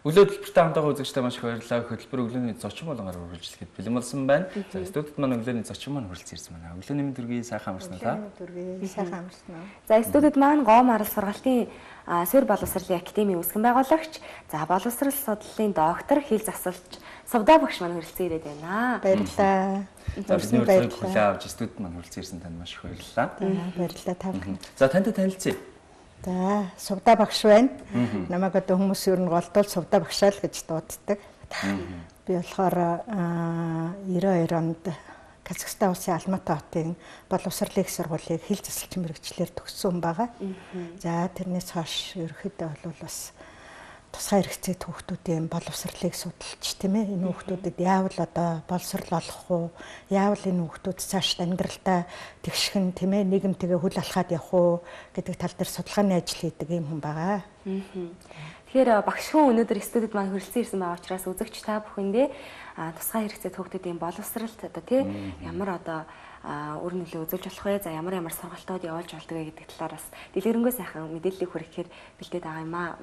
Өглөө төлбөртэй хамтдаа үзэгчтэй маш их баярлалаа. Хөтөлбөр өглөөний зочин болонгаар үргэлжлэхэд бэлэн болсон байна. За студид маань өглөөний зочин маань хүрэлцэн ирсэн байна. Өглөөний мэнд төргий сайхан амарсан уу та? Төргий сайхан амарсан уу. За студид маань Гоо Марал сургалтын суур боловсролын академийн үүсгэн байгуулагч, за боловсрол судлалын доктор, хэл засалч Сувда багш маань хүрэлцэн ирээд байна. Баярлалаа. За бидний урилгыг хүлээн авч студид маань хүрэлцэн ирсэн танд маш их баярлалаа. Баярлалаа та бүхэнд. За тантай танилцъя. За Сувда багш байна. Намайг одоо хүмүүс ер нь голдуул Сувда багшаа л гэж дууддаг. Би болохоор 92 онд Казахстан улсын Алматы хотын боловсролын их сургуулийг хэл засалч мэргэжлэр төгссөн байгаа. За тэрнээс хойш ерөөхдөө бол бас тусгай хэрэгцээтэй хүүхдүүдийн боловсролыг судалж тийм ээ энэ хүүхдүүдэд яавал одоо боловсрол олох уу, яавал энэ хүүхдүүд цааш амьдралдаа тэгшхэн тийм ээ нийгэмтэйгээ хөл алхаад явах уу гэдэг тал дээр судалгааны ажил хийдэг юм хүн байгаа. Тэгэхээр багш хүн өнөөдөр студид маань хүрэлцэн ирсэн байгаа учраас үзэгч та бүхэндээ тусгай хэрэгцээтэй хүүхдүүдийн боловсролт одоо тийм ямар одоо өөр нөлөө үзүүлж болох вэ? За ямар сургалтууд явуулж болдог вэ гэдэг талаар бас дэлгэрэнгүй сайхан мэдээллийг хүргэхээр бэлдээд байгаа юм аа.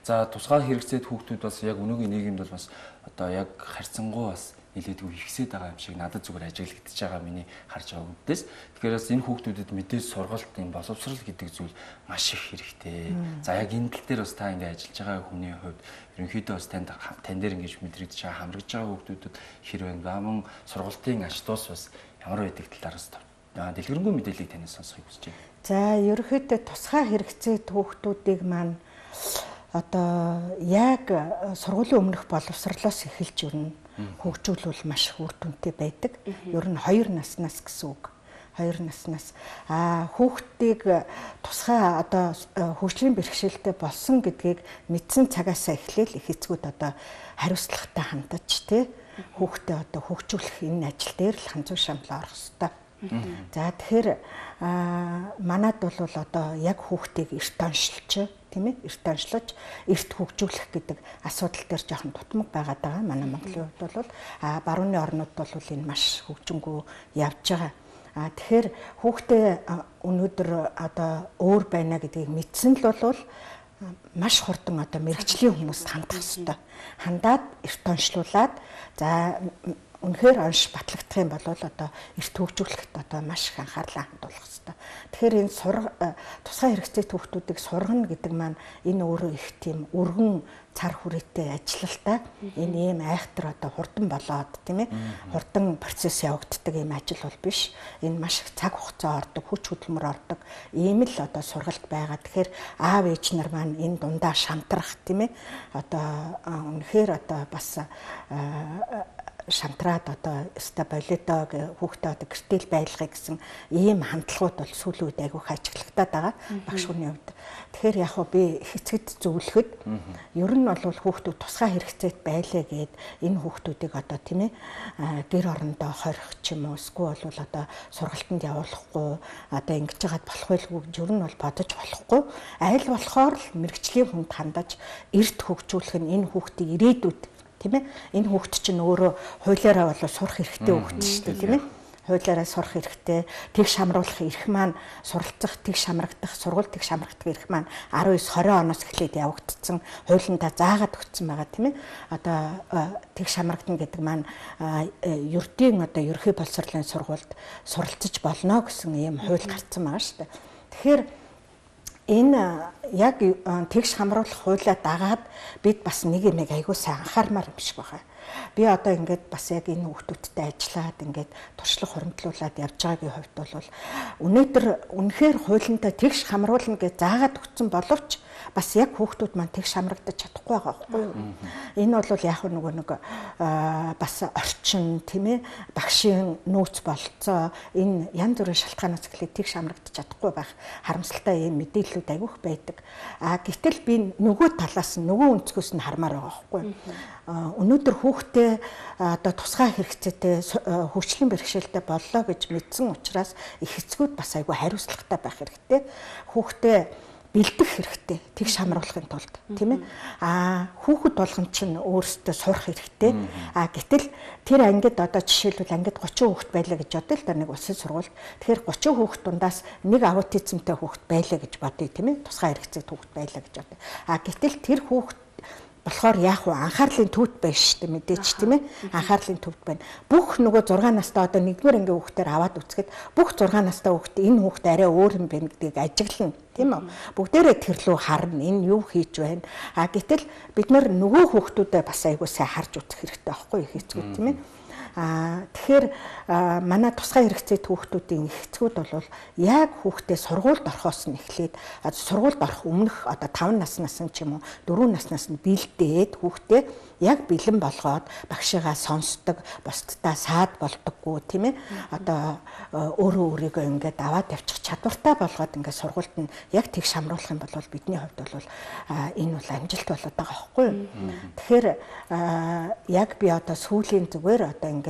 За тусгай хэрэгцээтэй хүүхдүүд бас яг өнөөгийн нийгэмд бол бас одоо яг харьцангуй бас нэлээдгүй ихсээд байгаа юм шиг надад зүгээр ажиглагдчихж байгаа миний харж байгаа үгдээс. Тэгэхээр бас энэ хүүхдүүдэд мэдээж сургалт энэ боловсрол гэдэг зүйл маш их хэрэгтэй. За яг энэ тал дээр бас та ингэ ажиллаж байгаа хүний хувьд ерөнхийдөө бас тань дээр ингэж мэдрэгдэж байгаа хамрагдж байгаа хүүхдүүдэд хэрвээ гамн сургалтын ач тус бас ямар байдаг талаар бас дэлгэрэнгүй мэдээллийг танаас сонсохыг хүсэж байна. За ерөнхийдөө тусгай хэрэгцээтэй хүүхдүүдийг маань одоо яг сургуулийн өмнөх боловсролоос эхэлж өрнө хөгжүүлвэл маш үр дүнтэй байдаг. Ер нь 2 наснаас гэсэн үг. 2 наснаас хүүхдийг тусгай одоо хөгжлийн бэрхшээлтэй болсон гэдгийг мэдсэн цагаас эхлээл их эцгүүд одоо хариуцлагатай хандаж тий хүүхдээ одоо хөгжүүлэх энэ ажил дээр л ханзуу шамлаа орох хэрэгтэй. За тэгэхээр манад бол одоо яг хүүхдийг эрт оншилж тийм ээ эрт оншлож эрт хөгжүүлэх гэдэг асуудал дээр жоохон дутмаг байгаад байгаа. Манай Монголын хувьд бол барууны орнууд бол энэ маш хөгжингүү явж байгаа. Тэгэхээр хүүхдээ өнөөдөр одоо өөр байна гэдгийг мэдсэн л бол маш хурдан одоо мэрэгчлийн хүмүүст хандах хэрэгтэй. Хандаад эрт оншлуулад за үнэхээр онш батлагдах юм бол одоо эрт хөгжүүлэхэд одоо маш их анхаарлаа хандуулах хэрэгтэй. Тэгэхээр энэ тусгай хэрэгцээтэй хүүхдүүдийг сургана гэдэг маань энэ өөрөө их тийм өргөн цар хүрээтэй ажилалтай энэ ийм айхтар одоо хурдан болоод тийм ээ хурдан процесс явагддаг ийм ажил бол биш. Энэ маш их цаг хугацаа ордог, хүч хөдөлмөр ордог ийм л одоо сургалт байгаа. Тэгэхээр аав ээж нар маань энэ дундаа шантрах тийм ээ одоо үнэхээр одоо бас шантраад одоо өста болидо хүүхдээ одоо гэртэл байлгахыг гэсэн ийм хандлагууд бол сүүлийн үед айгүй ажиглагтаад байгаа багш хүний хувьд. Тэгэхээр яг хөө би эцгэд зөвлөхөд ер нь бол хүүхдүүд тусгай хэрэгцээт байлаа гэд энэ хүүхдүүдийг одоо тийм ээ гэр орондоо хорих ч юм уу эсвэл бол одоо сургалтанд явуулахгүй одоо ингэж яагаад болох байлгүй гэж ер нь бол бодож болохгүй. Аль болохоор л мэрэгчлийн хүнд хандаж эрт хөгжүүлэх нь энэ хүүхдийг ирээдүйд тийм ээ энэ хүүхд чинь өөрөө хуулиараа бол сурах хэрэгтэй хүүхд шүү дээ тийм ээ хуулиараа сурах хэрэгтэй тэгш хамруулах эрх маань суралцах тэгш хамрагдах сургууль тэгш хамрагдах эрх маань 19-20 оноос эхлээд явагдсан хуулиндаа заагаад өгсөн байгаа тийм ээ одоо тэгш хамрагдана гэдэг маань ердийн одоо ерхий боловсролын сургуульд суралцж болно гэсэн ийм хууль гарцсан байгаа шүү дээ. Тэгэхээр энэ яг тэгш хамруулах хуулиа дагаад бид бас нэг юм айгуу сайн анхаармаар юм шиг байна. Би одоо ингээд бас яг энэ хүүхдүүдтэй ажиллаад ингээд туршлага хуримтлуулаад явж байгаагийн хувьд бол өнөөдөр үнэхээр хуулиндаа тэгш хамруулна гэж заагаад өгсөн боловч бас яг хүүхдүүд маань тэгш хамрагдаж чадахгүй байгаа байхгүй юу? Энэ бол яг нэг бас орчин тийм ээ багшийн нөөц болцоо энэ янз бүрийн шалтгаанаас эхлээд тэгш хамрагдаж чадахгүй байх харамсалтай ийм мэдээллүүд айгүйх байдаг. Гэтэл би нөгөө талаас нь нөгөө өнцгөөс нь хармаар байгаа байхгүй юу? Өнөөдөр хүүхдээ одоо тусгай хэрэгцээтэй хөгжлийн бэрхшээлтэй боллоо гэж мэдсэн учраас их эцгүүд бас айгүй хариуцлагатай байх хэрэгтэй. Хүүхдээ бэлдэх хэрэгтэй тэгш хамруулахын тулд тийм ээ хүүхэд болгон чинь өөрсдөө сурах хэрэгтэй гэтэл тэр ангид одоо жишээлбэл ангид 30 хүүхэд байлаа гэж бодъё л да нэг улсын сургуульд тэгэхээр 30 хүүхэд дундаас нэг аутизмтай хүүхэд байлаа гэж бодъё тийм ээ тусгай хэрэгцээтэй хүүхэд байлаа гэж бодъё гэтэл тэр хүүхэд болохоор яах вэ? Анхаарлын төвд байна шүү дээ мэдээч тийм ээ. Анхаарлын төвд байна. Бүх нөгөө 6 настай одоо 1-р ангийн хүүхдээр аваад үзэхэд бүх 6 настай хүүхд энэ хүүхд арай өөр юм байна гэдгийг ажиглана тийм үү? Бүгдээрээ тэр лөө харна. Энэ юу хийж байна? Гэтэл бид нөгөө хүүхдүүдэд бас айгуу сайн харж үзэх хэрэгтэй байхгүй их хэцүү тийм ээ. Тэгэхээр манай тусгай хэрэгцээтэй хүүхдүүдийн эцгүүд бол яг хүүхдээ сургуульд орохоос нь эхлээд сургуульд орох өмнөх одоо 5 наснаас нь ч юм уу 4 наснаас нь бэлдээд хүүхдээ яг бэлэн болгоод багшигаа сонсдог, бусдтай саад болдоггүй тийм ээ. Одоо өөрөө өөрийгөө ингээд аваад явчих чадвартай болгоод ингээд сургуульд нь яг тэг шамруулах юм бол бидний хувьд бол энэ бол амжилт болоод байгаа байхгүй юу. Тэгэхээр яг би одоо сүүлийн зүгээр одоо ингээд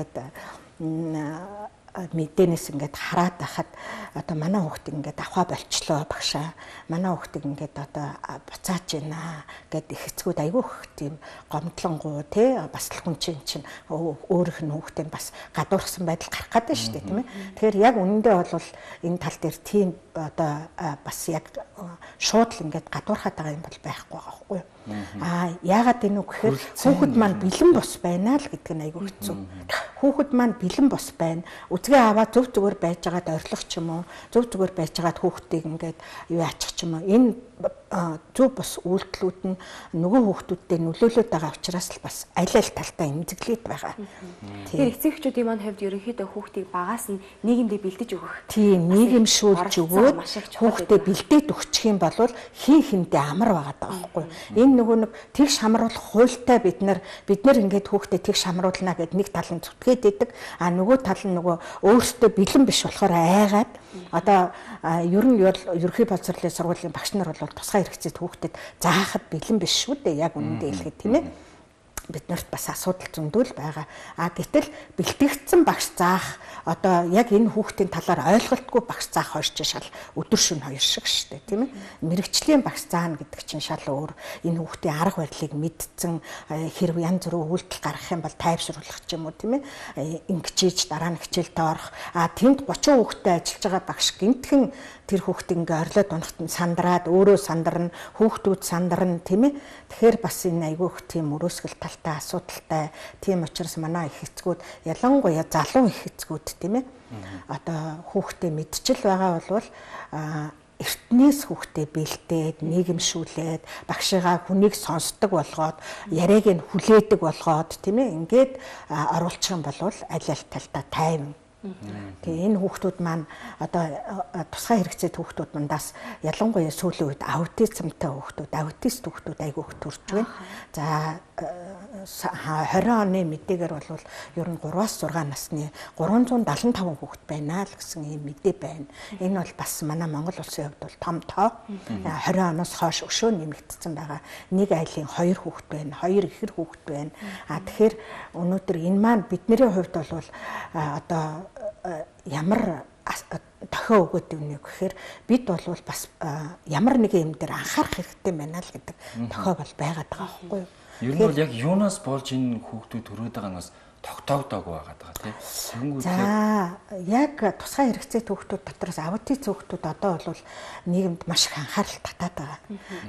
мэдээнээс ингээд хараад байхад одоо манай хүүхд ингээд авахаа болчлоо багшаа манай хүүхдийг ингээд одоо буцааж байна гэд их эцгүүд айгүй их тийм гомдлонгуу тий бас л хүн чинь өөрийнх нь хүүхдээ бас гадуурхсан байдал гарах гэдэг шүү дээ тийм ээ. Тэгэхээр яг үнэндээ бол энэ тал дээр тийм одоо бас яг шууд л ингээд гадуурхаад байгаа юм бол байхгүй байгаа байхгүй юу. Яагаад гэнэ үү гэхээр хүүхэд маань бэлэн бос байна л гэдэг нь айгүй хэцүү. Хүүхэд маань бэлэн бос байна. Үзгээ аваад зөв зүгээр байж байгаад орилох ч юм уу, зөв зүгээр байж байгаад хүүхдийг ингээд юу аачих ч юм уу. Энэ зөв бос үйлдэлүүд нь нөгөө хүүхдүүдтэй нөлөөлөд байгаа учраас л бас аль аль талтай эмзэглээд байгаа. Тэгэхээр эцэгчүүдийн маань хувьд ерөнхийдөө хүүхдийг багаас нь нийгэмдээ бэлдэж өгөх. Тийм, нийгэмшүүлж өгөөд хүүхдээ бэлдээд өгчих юм бол хин хиндээ амар байгаа байхгүй. Энэ нөгөө нэг тэгш хамруулах хуультай бид нар ингээд хүүхдээ тэгш хамруулна гэд нэг тал нь зүтгээд идэг. Нөгөө тал нь нөгөө өөртөө бэлэн биш болохоор айгаад одоо ер нь ерөнхий боловсролын сургуулийн багш нар бол тусгай хэрэгцээтэй хүүхдэд заахад бэлэн биш шүү дээ. Яг үнэндээ хэлэхэд тийм ээ. Биднэрт бас асуудал зөндөл байгаа. Гэтэл бэлтгэгдсэн багш заах одоо яг энэ хүүхдийн талаар ойлголтгүй багш заах хоёр чинь шал өдөр шөнө хоёр шиг шүү дээ тийм ээ. Мэргэжлийн багш заана гэдэг чинь шал өөр. Энэ хүүхдийн арга барилыг мэдсэн хэрв янз бүрийн үйлдэл гаргах юм бол тайвшруулах ч юм уу тийм ээ. Ингэжээж дараа нь хичээлдээ орох. Тэнд 30 хүүхдэд ажиллаж байгаа багш гинтхэн тэр хүүхдийг ингээ орлоод унахт нь сандраад өөрөө сандарна, хүүхдүүд сандарна тийм ээ. Тэгэхээр бас энэ айгүйх тийм өрөөсгөл талтай асуудалтай. Тийм учраас манай их эцгүүд ялангуяа залуу их эцгүүд тийм ээ. Одоо хүүхдээ мэдчил байгаа бол эртнээс хүүхдээ бэлдээд, нийгэмшүүлээд, багшигаа хүнийг сонсдог болгоод, яриаг нь хүлээдэг болгоод тийм ээ. Ингээд оруулчих юм бол аль аль талтай тайван. Тэгээ энэ хүүхдүүд маань одоо тусгай хэрэгцээтэй хүүхдүүд мандаас ялангуяа сүүлийн үед аутизмтай хүүхдүүд, аутист хүүхдүүд айгүй их төрж байна. За 20 оны мэдээгээр бол ер нь 3-6 насны 375 хүүхэд байна л гэсэн ийм мэдээ байна. Энэ бол бас манай Монгол улсын хувьд бол том тоо. 20 оноос хойш өшөө нэмэгдсэн байгаа. Нэг айлын 2 хүүхэд байна, 2 ихэр хүүхэд байна. Тэгэхээр өнөөдөр энэ маань бидний хувьд бол одоо ямар тохио өгöd юм бэ гэхээр бид бол бас ямар нэгэн юм дээр анхаарах хэрэгтэй байна л гэдэг тохио бол байгаад байгаа байхгүй юу. Ер нь бол яг юунаас болж энэ хүүхдүүд төрөөд байгаа нь бас тогтоогдоогүй байгаа тийм. За яг тусгай хэрэгцээтэй хүүхдүүд дотроос аутизм хүүхдүүд одоо бол нийгэмд маш их анхаарал татаад байгаа.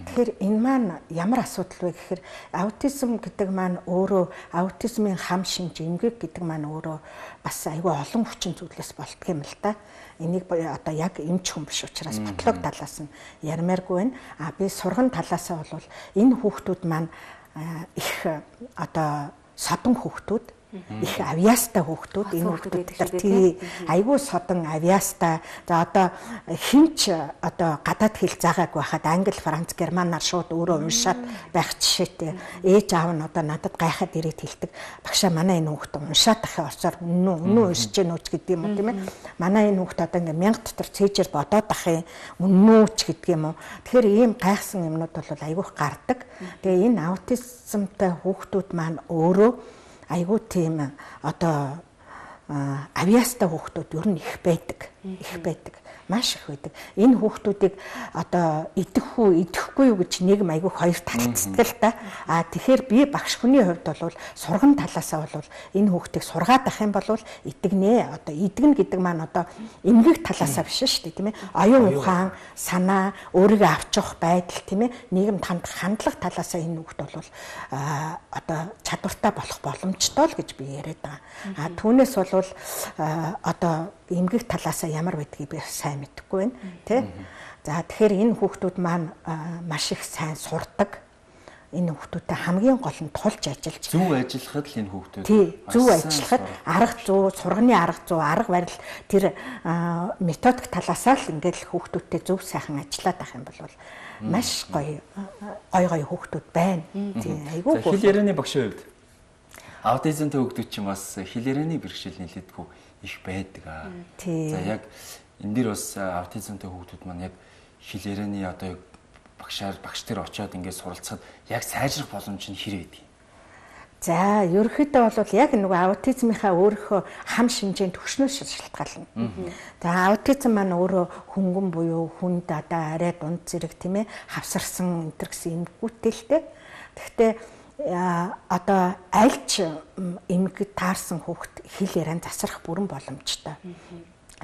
Тэгэхээр энэ маань ямар асуудал вэ гэхээр аутизм гэдэг маань өөрөө аутизмын хам шинж эмгэг гэдэг маань өөрөө бас айгүй олон хүчин зүйлээс болдго юм л да. Энийг одоо яг эмч хүн биш учраас патолог талаас нь ярмааргүй байна. Би сурган талаасаа бол энэ хүүхдүүд маань их одоо содон хүүхдүүд их авьяастай хүүхдүүд энэ хүүхдүүд төр тий айгүй содон авьяастай за одоо хинч одоо гадаад хэл заагааг байхад англи франц германаар шууд өөрөө уншаад байх жишээтэй ээж аав нь одоо надад гайхаад ирээд хэлдэг багшаа манай энэ хүүхд уншаад ахын орцоор үнэн уншиж гэнэ үуч гэдэг юм уу тийм ээ манай энэ хүүхд одоо ингээ 1000 дотор цээжээр бодоод ахын үнэн үуч гэдэг юм уу тэгэхээр ийм гайхсан юмнууд бол айгүйх гардаг тэгээ энэ аутизмтай хүүхдүүд маань өөрөө айгүй тийм одоо авьяастай хүүхдүүд ер нь их байдаг. маш их байдаг. Энэ хүүхдүүдийг одоо идэх үү, идэхгүй юу гэж нэг айгүй хоёр татцдаг л та. Тэгэхээр би багш хүний хувьд бол сургам талаасаа бол энэ хүүхдийг сургаад ах юм бол идэгнэ. Одоо идэгнэ гэдэг маань одоо эмгэг талаасаа биш шүү дээ, тийм ээ. Оюун ухаан, санаа, өөрийгөө авч явах байдал, тийм ээ. Нийгэмд хандлах талаасаа энэ хүүхд бол одоо чадвартай болох боломжтой л гэж би яриад байгаа. Түүнээс бол одоо эмгэг талаасаа ямар байдгийг би сайн мэдэхгүй байна, тий. За тэгэхээр энэ хүүхдүүд маань маш их сайн сурдаг. Энэ хүүхдүүдтэй хамгийн гол нь тулж ажиллаж зөв ажиллахад л энэ хүүхдүүд зөв ажиллахад арга зүй, сурганы арга зүй, арга барил тэр методик талаасаа л ингээл хүүхдүүдтэй зөв сайхан ажиллаад байх юм бол маш гоё хүүхдүүд байна. Тийм айгүй гоё. Хэл ярианы багшийн хувьд аутизмтай хүүхдүүд чинь бас хэл ярианы бэрхшээл нэлээдгүй их байдаг аа. За яг энэ дэр бас аутизмтай хүүхдүүд маань яг хэл ярианы одоо багш нар очиод ингээд суралцахад яг сайжрах боломж нь хэр байдаг юм? За, ерөнхийдөө бол яг нөгөө аутизмынхаа өөрийнхөө хам шинжээнд төвшнөөс шалтгаална. За, аутизм маань өөрөө хөнгөн буюу хүнд одоо арай дунд зэрэг тийм ээ хавсарсан энэ гэсэн эмгэгтэй л дээ. Гэхдээ одоо альч эмгэгт таарсан хүүхэд хэл яриан засрах бүрэн боломжтой.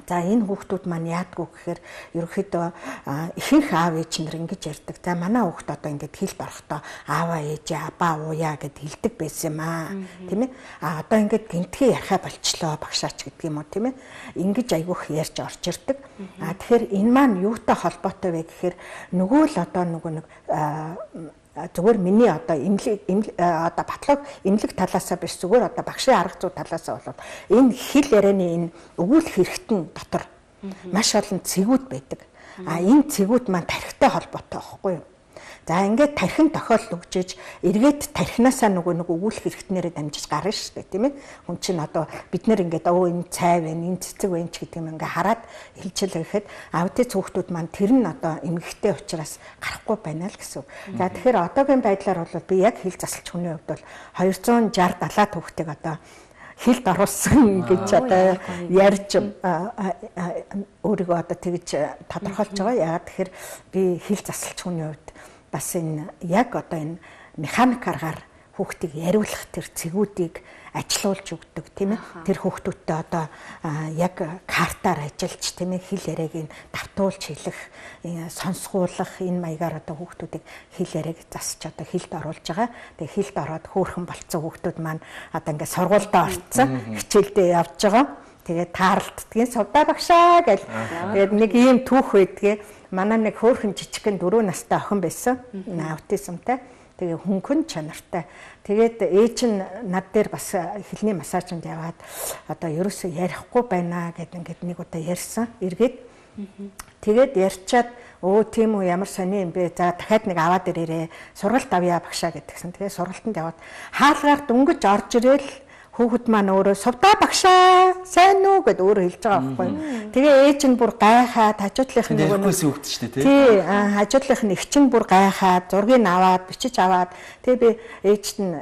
За энэ хүүхдүүд маань яадгүй гэхээр ерөнхийдөө ихэнх аав ээж нар ингэж ярьдаг. За манай хүүхд одоо ингэж хэлд орохдоо ааваа ээжээ абаа ууя гэд хэлдэг байсан юм аа. Тийм ээ. Одоо ингэж гинтгий ярихаа болчлоо багшаач гэдэг юм уу тийм ээ. Ингэж айгүйх ярьж орж ирдэг. Тэгэхээр энэ маань юутай холбоотой вэ гэхээр нөгөө л одоо нөгөө нэг зүгээр миний одоо одоо батлог эмнэлэг талаасаа биш зүгээр одоо багшийн арга зүй талаасаа бол энэ хэл ярианы энэ өгүүлэх хэрэгтэн дотор маш олон цэгүүд байдаг. Энэ цэгүүд маань тархитай холбоотой байхгүй юу? За ингээд тархин тохиолдол өгчээж эргээд тархинаасаа нөгөө нэг өгүүлэх хэрэгтнэрээ дамжиж гарна шүү дээ, тийм ээ. Хүн чинь одоо бид нэр ингээд энэ цай вэ, энэ цэцэг вэ ч гэдэг юм ингээд хараад хэлчихэл гэхэд аутизм хүүхдүүд маань тэр нь одоо эмгэгтэй учраас гарахгүй байна л гэсэн. За тэгэхээр одоогийн байдлаар бол би яг хэл засалч хүний хувьд бол 260 70 хүүхдийг одоо хэлд оруулсан гэж одоо ярьж өөрийгөө одоо тэгж тодорхойлж байгаа. Яагаад тэгэхээр би хэл засалч хүний хувьд бас энэ яг одоо энэ механик аргаар хүүхдийг яриулах тэр цэгүүдийг ажилуулж өгдөг тийм ээ. Тэр хүүхдүүдтэй одоо яг картаар ажиллаж тийм ээ хэл яриаг давтуулж хэлэх, сонсгуулах энэ маягаар одоо хүүхдүүдийг хэл яриаг засч одоо хэлд оруулж байгаа. Тэгээ хэлд ороод хөөрхөн болцсон хүүхдүүд маань одоо ингээд сургуультай орцсон хичээлдээ явж байгаа. Тэгээд таарлтдгийн сувдаа багшаа гэл. Тэгээд нэг ийм түүх байдгээ. Манай нэг хөөрхөн жижигхэн 4 настай охин байсан. Аутизмтай. Тэгээ хөнгөн чанартай. Тэгээд ээж нь над дээр бас хэлний массажинд яваад одоо ерөөсөө ярихгүй байна гэд ингээд нэг удаа ярьсан. Эргээд тэгээд ярьчаад өө тийм үү ямар сони юм бэ. За дахиад нэг аваад ирээрээ сургалт авъя багшаа гэдгсэн. Тэгээд сургалтанд яваад хаалгаар дөнгөж орж ирээл хүүхэд маань өөрөө сувдаа багшаа сайн уу гэд өөрөө хэлж байгаа байхгүй. Тэгээ ээж нь бүр гайхаад хажуудлынх нь нөгөө хүүхэд шүү дээ тий. Хажуудлынх нь их чинь бүр гайхаад зургийг аваад бичиж аваад тэгээ би ээжт нь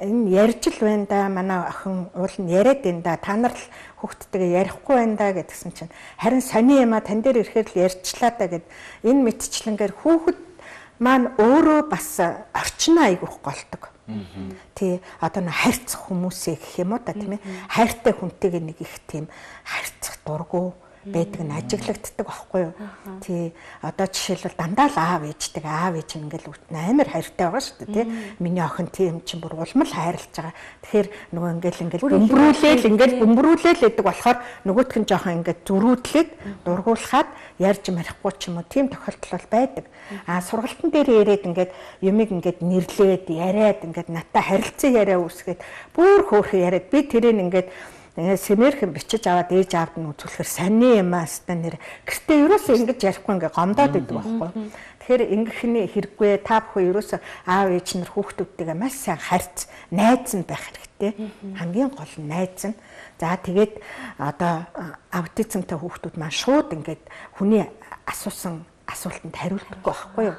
энэ ярьж л байна да манай охин уул нь яриад байна да та нар л хүүхдтэйгээ ярихгүй байна да гэдгсэн чинь харин сони юм а тань дээр ирэхээр л ярьчлаа да гэд энэ мэтчлэнгээр хүүхэд маань өөрөө бас орчин айгүйх голдог. Тий одоо нэг хайрцах хүмүүсээ гэх юм уу та тийм ээ хайртай хүнтэйгээ нэг их тийм хайрцах дургу байдаг нь ажиглагддаг байхгүй юу. Тий одоо жишээлбэл дандаа л аав ээж ингээл амар хайртай байгаа шүү дээ тий. Миний охин тийм чинь бүр улмал хайрлаж байгаа. Тэгэхээр нөгөө ингээл бөмбөрүүлээл гэдэг болохоор нөгөөх нь жоохон ингээд зөрүүдлээд дургуулхаад ярьж марихгүй ч юм уу тийм тохиолдол бол байдаг. Сургалтын дээр ирээд ингээд юмыг ингээд нэрлээд яриад ингээд надтай харилцан яриа үүсгээд бүр хөөрхөн яриад би тэрийг ингээд сэмэрхэн бичиж аваад ээж аавд нь үзүүлэхээр сони юм аа стан нэр гэртээ ерөөсөө ингэж ярихгүй ингээ гомдоод идэг байхгүй. Тэгэхээр ингэхний хэрэггүй та бүхэн ерөөсөө аав ээж нар хүүхдүүдтэйгээ маш сайн харьц найз нь байх хэрэгтэй. Хамгийн гол нь найз нь. За тэгээд одоо аутизмтай хүүхдүүд маань шууд ингээд хүний асуусан асуултанд хариулдаггүй байхгүй юу.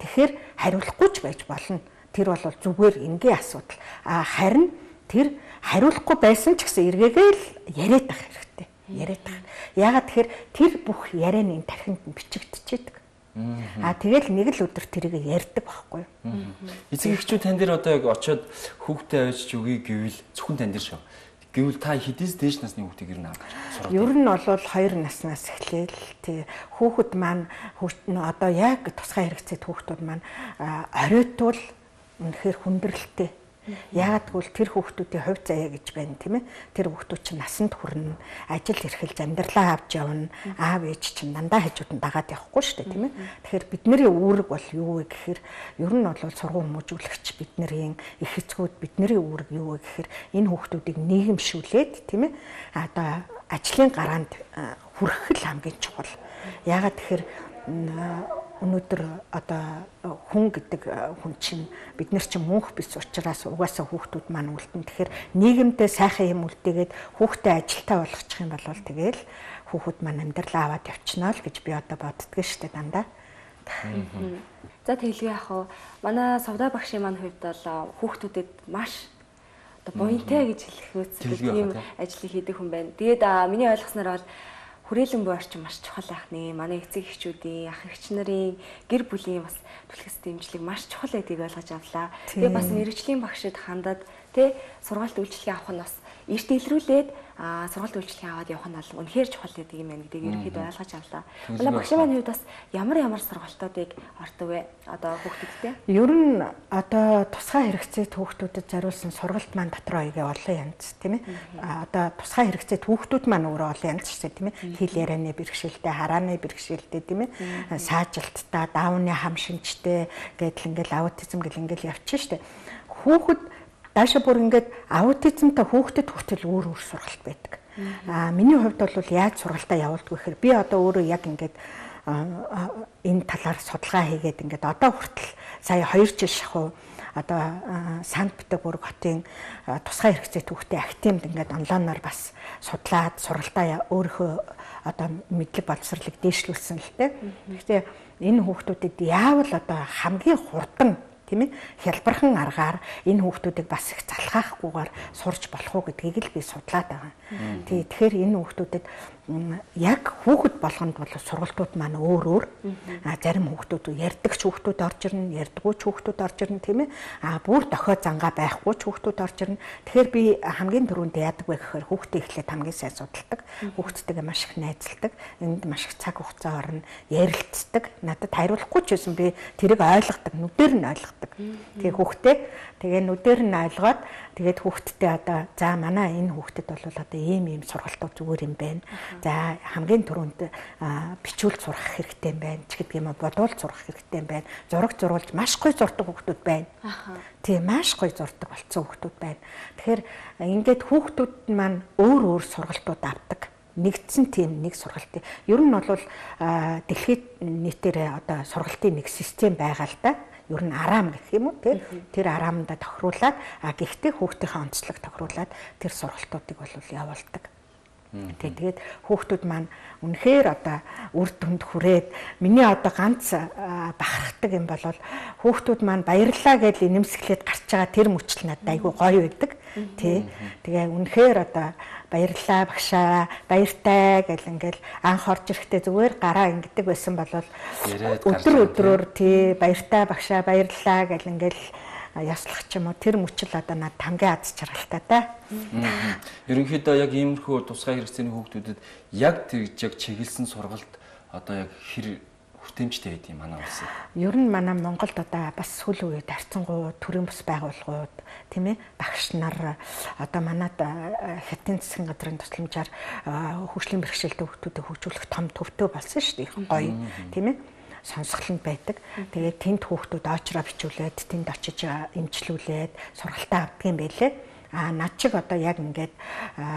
Тэгэхээр хариулахгүй ч байж болно. Тэр бол зүгээр энгийн асуудал. Харин тэр хариулахгүй байсан ч гэсэн эргээгээл яриад байх хэрэгтэй. яриад байгаа. Яагаад тэгэхээр тэр бүх ярианы тархинд нь бичигдчихэдэг. Тэгэл нэг л өдөр тэрийг ярьдаг байхгүй юу? Эцэг эхчүүд тань дээр одоо яг очиод хүүхдээ авчиж өгье гэвэл зөвхөн тань дээр шүү. Гэвэл та хэдээс дээш насны хүүхдийг ер нь авах? Ер нь бол 2 наснаас эхлээл тий хүүхэд маань одоо яг тусгай хэрэгцээтэй хүүхдүүд маань оройтвол үнэхээр хүндрэлтэй. Яагаад гэвэл тэр хүүхдүүдийн хувь заяа гэж байна тийм ээ. Тэр хүүхдүүд чинь насанд хүрнэ, ажил эрхэлж амьдралаа авч явна. Аав ээж чинь дандаа хажууд нь дагаад явахгүй шүү дээ тийм ээ. Тэгэхээр бидний үүрэг бол юу вэ гэхээр ер нь бол сургууль хүмүүжүүлэгч бидний их эцгүүд бидний үүрэг юу вэ гэхээр энэ хүүхдүүдийг нийгэмшүүлээд тийм ээ. Одоо ажлын гараанд хүрэх л хамгийн чухал. Яагаад тэгэхээр өнөөдөр одоо хүн гэдэг хүн чинь бид нар чинь мөнх бис учраас угаасаа хүүхдүүд маань үлдэн. Тэгэхээр нийгэмдээ сайхан юм үлдээгээд хүүхдээ ажилтаа болгочих юм бол тэгэл хүүхэд маань амьдралаа аваад явчихна л гэж би одоо боддөг шүү дээ дандаа. За тэгэлгүй яах вэ? Манай Совда багшийн маань хувьд бол хүүхдүүдэд маш одоо буянтай гэж хэлэх үүсэл тийм ажлыг хийдэг хүн байна. Тэгээд миний ойлгосноор бол хүрээлэн буй орчин маш чухал байх нэ. Манай эцэг эхчүүдийн, ах эгч нарын, гэр бүлийн бас түлхэс дэмжлэг маш чухал байдгийг ойлгож авлаа. Тэгээ бас мэрэгжлийн багшид хандаад тэ сургаалт үйлчлэгээ авах нь бас эрт илрүүлээд сургалт үйлчлэгээ аваад явах нь бол үнэхээр чухал гэдэг юм байна гэдгийг ерөнхийдөө ойлгож авлаа. Манай багшийн маань хувьд бас ямар сургалтуудыг ордог вэ? Одоо хүүхдүүдтэй? Ер нь одоо тусгай хэрэгцээт хүүхдүүдэд зориулсан сургалт маань дотроо игээ олон янз тийм ээ. Одоо тусгай хэрэгцээт хүүхдүүд маань өөрөө олон янз шүү дээ тийм ээ. Хэл ярианы бэрхшээлтэй, харааны бэрхшээлтэй тийм ээ. Саажилттай, даавны хам шинжтэй гэдэл ингээл аутизм гэл ингээл явчихна шүү дээ. Хүүхэд даашаа бүр ингээд аутизмтай хүүхдэд хүртэл өөр сургалт байдаг. Миний хувьд бол яаж сургалтаа явуулдаг вэ гэхээр би одоо өөрөө яг ингээд энэ талаар судалгаа хийгээд ингээд одоо хүртэл сая 2 жил шахуу одоо Санкт-Петербург хотын тусгай хэрэгцээтэй хүүхдийн актемд ингээд онлайнаар бас судлаад сургалтаа өөрийнхөө одоо мэдлэг боловсролыг дээшлүүлсэн л дээ. Гэхдээ энэ хүүхдүүдэд яавал одоо хамгийн хурдан тийм ээ хялбархан аргаар энэ хүүхдүүдийг бас их залхаахгүйгээр сурж болох уу гэдгийг л би судлаад байгаа. Тэгэхээр энэ хүүхдүүдэд яг хүүхэд болгонд бол сургалтууд маань өөр. Зарим хүүхдүүд ярьдаг ч хүүхдүүд орж ирнэ, ярьдаггүй ч хүүхдүүд орж ирнэ тийм ээ. Бүр дохио зангаа байхгүй ч хүүхдүүд орж ирнэ. Тэгэхээр би хамгийн түрүүнд яадаг вэ гэхээр хүүхдээ эхлээд хамгийн сайн судалдаг. Хүүхдтэйгээ маш их найзалдаг. Энд маш их цаг хугацаа орно, ярилцдаг. Надад хариулахгүй ч гэсэн би тэрийг ойлгодог, нүдээр нь ойлгодог. Тэгээ хүүхдээ тэгээ нүдээр нь ойлгоод тэгээд хүүхдтэй одоо за манай энэ хүүхдэд бол одоо ийм сургалтууд зүгээр юм байна. За хамгийн түрүүнд бичүүлж сурах хэрэгтэй юм байна ч гэдэг юм уу, бодуулж сурах хэрэгтэй юм байна. Зураг зурулж маш гоё зурдаг хүүхдүүд байна. Тийм маш гоё зурдаг болсон хүүхдүүд байна. Тэгэхээр ингээд хүүхдүүд маань өөр сургалтууд авдаг. Нэгдсэн тийм нэг сургалтын. Ер нь бол дэлхийд нийтээр одоо сургалтын нэг систем байгаа л да. Ер нь араам гэх юм уу тэр араамда тохируулаад гэхдээ хүүхдийнхээ онцлог тохируулаад тэр сургалтуудыг бол явуулдаг. Тэгээд хүүхдүүд маань үнэхээр одоо үр дүнд хүрээд миний одоо ганц бахархдаг юм бол хүүхдүүд маань баярлаа гэж нэмсгэлээд гарч байгаа тэр мөчл надад айгүй гоё байдаг. Тэгээ үнэхээр одоо баярлаа багшаа баяртай гэл ингээл анх орж ирэхдээ зүгээр гараа ингэдэг байсан бол өдрөөр баяртай багшаа баярлаа гэл ингээл яслах ч юм уу тэр мөчл одоо надад хамгийн аз жаргалтай да. Ерөнхийдөө яг иймэрхүү тусгай хэрэгцээний хүүхдүүдэд яг тэр чиглэсэн сургалт одоо яг хэр хүртээмжтэй байд юм манай улсад. Ер нь манай Монголд одоо бас сүүлийн үед харьцангуй төрийн бас байгууллагууд тийм ээ багш нар одоо манад хятадын засгийн газрын тусламжаар хөгжлийн бэрхшээлтэй хүүхдүүдэд хөгжүүлэх том төвтэй болсон шүү дээ. Их гоё тийм ээ сонсголонд байдаг. Тэгээд тэнд хүүхдүүд очроо бичүүлээд тэнд очиж эмчлүүлээд сургалтаа авдаг юм байлээ. Над чиг одоо яг ингээд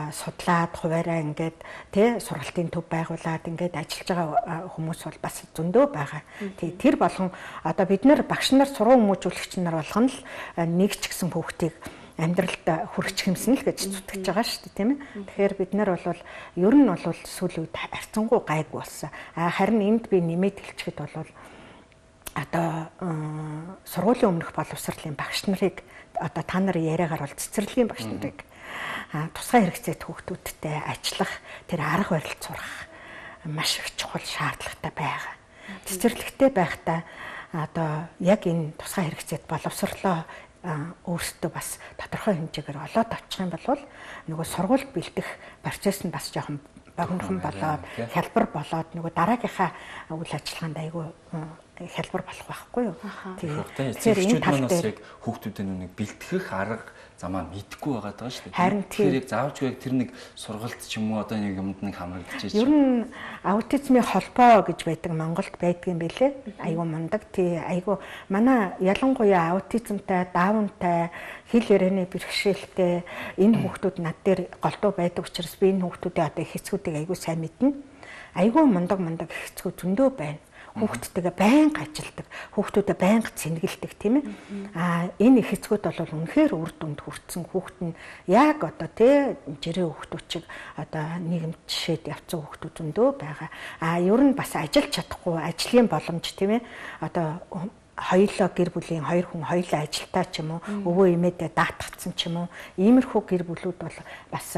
судлаад хуваараа ингээд тий сургалтын төв байгуулад ингээд ажиллаж байгаа хүмүүс бол бас зөндөө байгаа. Тэр болгон одоо бид нар багш нар сургууль хүмүүжүүлэгч нар болгоно л нэг ч гэсэн хүүхдийг амьдралд хүрч хэмсэн л гэж зүтгэж байгаа шүү дээ тийм ээ. Тэгэхээр бид нар бол ер нь бол сүүлийн үед харьцангуй гайгүй болсон. Харин энд би нэмээд хэлчихэд бол одоо сургуулийн өмнөх боловсролын багш нарыг одоо та нарын яриагаар бол цэцэрлэгийн багш нарыг тусгай хэрэгцээтэй хүүхдүүдтэй ажиллах тэр арга барил сурах маш их чухал шаардлагатай байгаа. Цэцэрлэгтэй байхдаа одоо яг энэ тусгай хэрэгцээт боловсрлоо өөрсдөө бас тодорхой хэмжээгээр олоод авчих юм бол нөгөө сургуульд бэлдэх процесс нь бас жоохон богинохон болоод хялбар болоод нөгөө дараагийнхаа үйл ажиллагаанд айгүй хялбар болох байхгүй юу. Тэгэхээр энэ тал дээр хүүхдүүдийн нүг бэлтгэх арга замаа мэдгүй байгаа даа шүү дээ. Тэгэхээр яг заавчгүй тэр нэг сургалт ч юм уу одоо нэг юмд нэг хамрагдчихэж байна. Ер нь аутизмын холбоо гэж байдаг Монголд байдгийн байлээ. Айгүй мундаг. Тий айгүй манай ялангуяа аутизмтай, даунтай, хэл ярианы бэрхшээлтэй энэ хүүхдүүд над дээр голдуу байдаг учраас би энэ хүүхдүүдээ одоо хэцгүүдийг айгүй сайн мэднэ. Айгүй мундаг хэцгүүд зөндөө байна. Хүүхдтэйгээ байнга ажилдаг, хүүхдүүдэд байнга цэнгэлдэг тийм ээ. Энэ хэцгүүд бол үнэхээр үр дүнд хүрсэн хүүхд нь яг одоо тий жирийн хүүхдүүд чиг одоо нийгэмд жишээд явцсан хүүхдүүд зөндөө байгаа. Ер нь бас ажиллаж чадахгүй, ажлын боломж тийм ээ. Одоо хоёулаа гэр бүлийн хоёр хүн хоёулаа ажилтаа ч юм уу, өвөө эмээдээ даатгацсан ч юм уу. Иймэрхүү гэр бүлүүд бол бас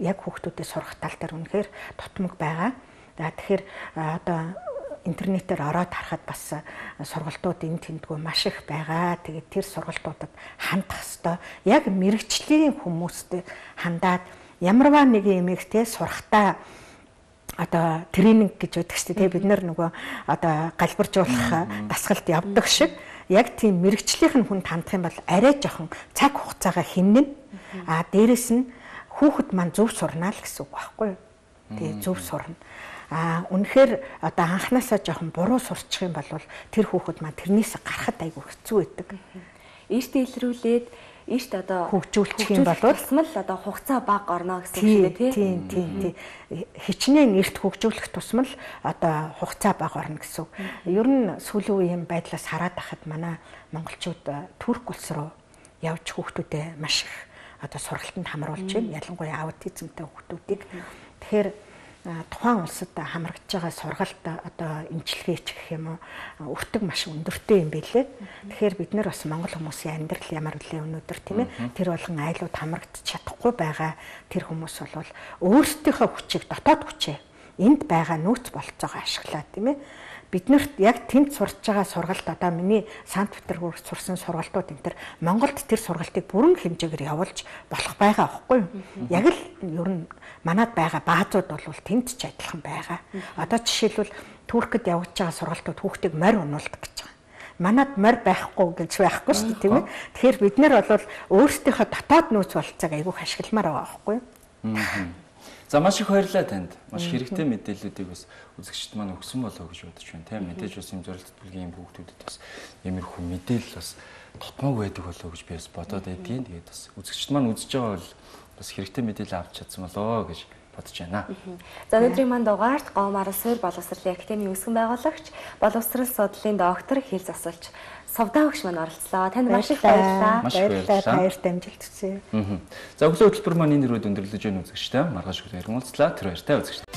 яг хүүхдүүдэд сурах тал дээр үнэхээр тутмаг байгаа. Тэгэхээр одоо интернетээр ороод харахад бас сургалтууд энэ тэмдгүү маш их байгаа. Тэгээд тэр сургалтуудад хандах хэвээр яг мэрэгжлийн хүмүүстэй хандаад ямарваа нэгэн эмэгтэй сурахтаа одоо тренинг гэж байдаг шүү дээ. Бид нар нөгөө одоо галбаржуулах дасгалд явдаг шиг яг тийм мэрэгжлийнх нь хүнд хандах юм бол арай жоохон цаг хугацаагаа хэмнэн. Дээрэс нь хүүхэд маань зөв сурнаа л гэсэн үг байхгүй юу? Тэгээ зөв сурна. Үнэхээр одоо анханасаа жоохон буруу сурчих юм бол тэр хүүхэд маань тэрнээс гарахад айгүй хэцүү байдаг. Ийштэй илрүүлээд ийштэй одоо хөгжүүлчих юм бол тусмал одоо хугацаа бага орно гэсэн үг шүү дээ тийм. Хичнээн эрт хөгжүүлэх тусмал одоо хугацаа бага орно гэсэн үг. Ер нь сүүлийн үеийн байдлаас хараад байхад манай монголчууд Турк улс руу явж хүүхдүүдээ маш их одоо сургалтанд хамруулж байна. Ялангуяа аутизмтай хүүхдүүдийг. Тэгэхээр тухайн улсад хамрагдж байгаа сургалт одоо эмчилгээч гэх юм уу өртөг маш өндөртэй юм билээ. Тэгэхээр бид нар бас монгол хүмүүсийн амьдрал ямар үлээ өнөөдөр тийм ээ тэр болгон айлууд хамрагдчих чадахгүй байгаа тэр хүмүүс бол өөрсдийнхөө хүчийг дотоод хүчээ энд байгаа нөөц болцоогоо ашиглаад тийм ээ бид нарт яг тэнд сурч байгаа сургалт одоо миний Санкт Петербургт сурсан сургалтууд энэ төр Монголд тэр сургалтыг бүрэн хэмжээгээр явуулж болох байгаа аахгүй юу? Яг л ер нь манад байгаа баазууд бол тэнд ч адилхан байгаа. Одоо жишээлбэл Туркид явж байгаа сургалтууд хүүхдийг морь унуулдаг гэж байгаа. Манад морь байхгүй гэж байхгүй шүү дээ тийм ээ. Тэгэхээр бид нар бол өөрсдийнхөө дотоод нөөц болцоог айгүй ашигламаар байгаа аахгүй юу? За маш их баярлалаа танд. Маш хэрэгтэй мэдээллүүдийг бас үзэгчд маань өгсөн болоо гэж бодож байна. Тийм мэдээж бас юм зорилт төлгийн хүүхдүүдэд бас иймэрхүү мэдээлэл бас тотмог байдаг болоо гэж би бас бодоод байдгийн. Тэгээд бас үзэгчд маань үзэж байгаа бол бас хэрэгтэй мэдээлэл авч чадсан болоо гэж бодож байна. За өнөөдрийн манд дугаарт Говьмаар Суур боловсролын академийн үүсгэн байгуулагч, боловсрол судлалын доктор Хэл Засвалж Совдаа багш маань оролцлоо. Танд маш их баярлалаа. Баярлалаа. Баярт амжилт хүсье. За өглөө хөтөлбөр маань энэ өрөөд өндөрлөж байна үзэгчтэй. Маргааш хүртэл ярилцлаа. Тэр баяртай үзэгчтэй.